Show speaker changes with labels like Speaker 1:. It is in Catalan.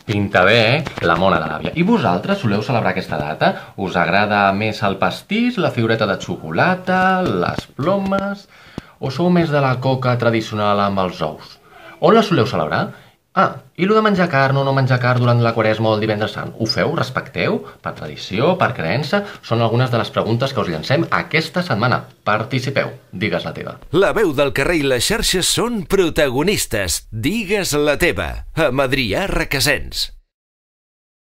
Speaker 1: Pinta bé, la mona de l'àvia. I vosaltres soleu celebrar aquesta data? Us agrada més el pastís, la figureta de xocolata, les plomes? O sou més de la coca tradicional amb els ous? On la soleu celebrar? Ah, i lo de menjar carn o no menjar carn durant la Quaresma o el Divendres Sant? Ho feu? Respecteu? Per tradició? Per creença? Són algunes de les preguntes que us llancem aquesta setmana. Participeu. Digues la teva.
Speaker 2: La veu del carrer i les xarxes són protagonistes. Digues la teva. Amb Adrià Requesens.